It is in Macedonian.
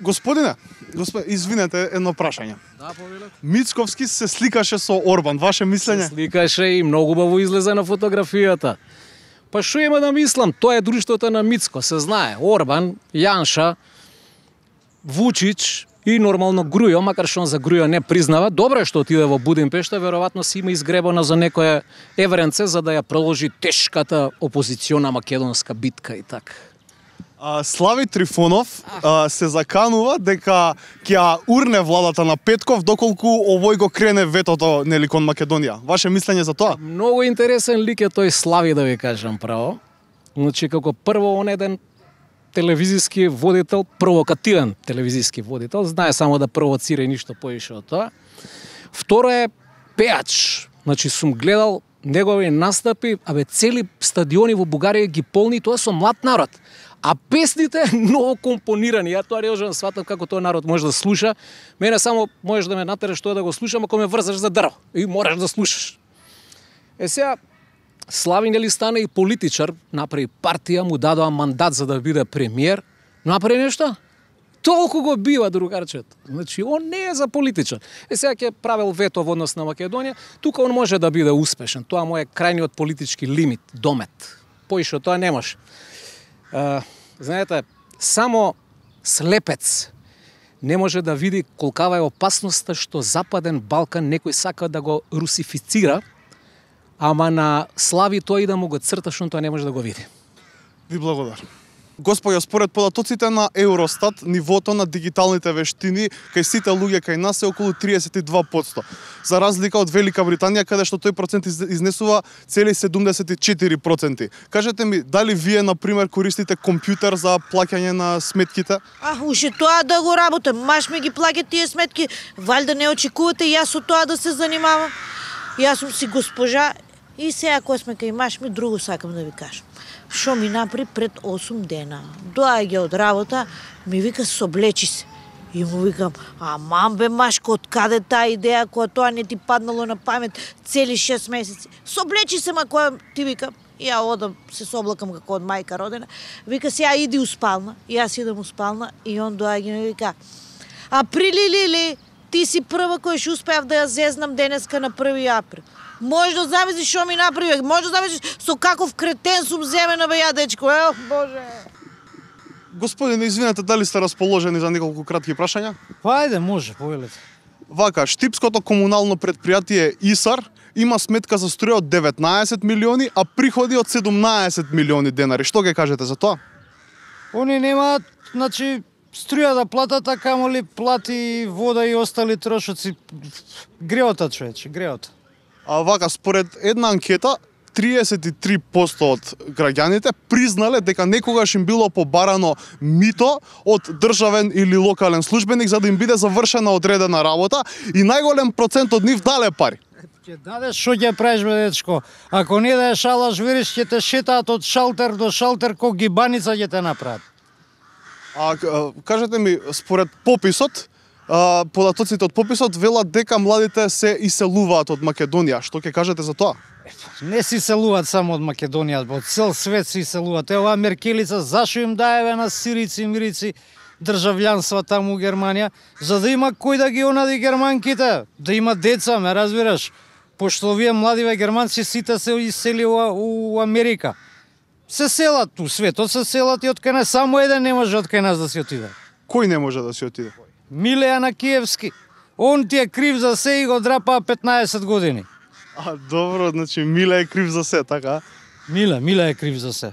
Господине, извинете, едно прашање. Да, повелете. Мицковски се сликаше со Орбан, ваше мислење? Сликаше и многу убаво излезе на фотографијата. Па што има да мислам, тоа е друштвото на Мицко, се знае. Орбан, Јанша, Вучич и нормално Грујо, макар што он за Грујо не признава. Добро е што отиде во Будимпешта, веројатно си има изгребана за некое евренце за да ја продолжи тешката опозициона македонска битка и така. Слави Трифонов се заканува дека ќе ја урне владата на Петков доколку овој го крене ветото нели кон Македонија. Ваше мислење за тоа? Многу интересен лик е тој Слави, да ви кажам право. Значи како прво он еден телевизиски водител, провокативен телевизиски водител, знае само да провоцира и ништо поише од тоа. Второ е пеач. Значи сум гледал негови настапи, цели стадиони во Бугарија ги полни, тоа со млад народ. А песните многу компонирани. Ја тоа не можам да сватам како тој народ може да слуша. Мене само можеш да ме натераш тоа да го слушам ако ме врзаш за дрво. И мораш да слушаш. Сега Слави нели стана и политичар, направи партија, му дадоа мандат за да биде премиер. Направи нешто? Толку го бива другарчето. Значи, он не е за политичар. Сега ќе правил вето во однос на Македонија, тука он може да биде успешен. Тоа му е крајниот политички лимит, домет. Поише тоа не може. Знаете, само слепец не може да види колкава е опасноста што Западен Балкан некој сака да го русифицира, ама на Слави тој да му го црта, што тоа не може да го види. Ви благодарам. Господја, според податоците на Евростат, нивото на дигиталните вештини кај сите луѓе кај нас е околу 32%. За разлика од Велика Британија, каде што тој процент изнесува цели 74%. Кажете ми, дали вие, например, користите компјутер за плаќање на сметките? Уште тоа да го работам. Маш ми ги плаќа тие сметки. Валјда не очекувате јас со тоа да се занимавам. Јас сум си госпожа и сега кога сме кај маш ми друго сакам да ви кажам. Шо ми напри пред 8 дена. Доаѓа од работа, ми вика соблечи се. И му викам, аман бе Машко, од каде таа идеја, која тоа не ти паднало на памет цели 6 месеци. Соблечи се, ма која ти викам, ја одам, се соблакам како од мајка родена. Вика, сега иди у спална. И јас идам у спална и он доаѓа и ми вика, априли Лили, ти си прва кој што успеав да ја зезнам денеска на 1 април. Може да замислиш што ми направи, може да замислиш со каков кретен сум земена бе ја дечко. Боже. Господине, извинете, дали сте расположени за неколку кратки прашања? Па ајде, може, повелете. Вака, Штипското комунално предпријатие ИСАР има сметка за струја од 19 милиони, а приходи од 17 милиони денари. Што ќе кажете за тоа? Они немаат, значи, струја да платат, а камоли плати вода и остали трошоци. Греота, човече, греота. А вака, според една анкета, 33% од граѓаните признале дека некогаш им било побарано мито од државен или локален службеник за да им биде завршена одредена работа и најголем процент од нив дале пари. Ќе дадеш што ќе правиш бе дечко. Ако не да шалаш, вериш ќе те шетаат од шалтер до шалтер ко гибаница ќе те направат. Кажете ми, според пописот, податоците од пописот велат дека младите се иселуваат од Македонија. Што ќе кажете за тоа? Не се иселуваат само од Македонија, од цел свет се иселуваат. Ева Меркелица зашо им даеве на сирици и мирици државјанства таму у Германија, за да има кој да ги онади германките, да има деца, ме разбираш? Пошто овие младиве германци сите се иселија у Америка. Се селат у светот, се селат и од кај нас, само еден не може од кај нас да се отиде. Кој не може да се отиде? Миле Анакиевски. Он ти е крив за се и го драпа 15 години. Добро, значи Миле е крив за се, така? Миле е крив за се.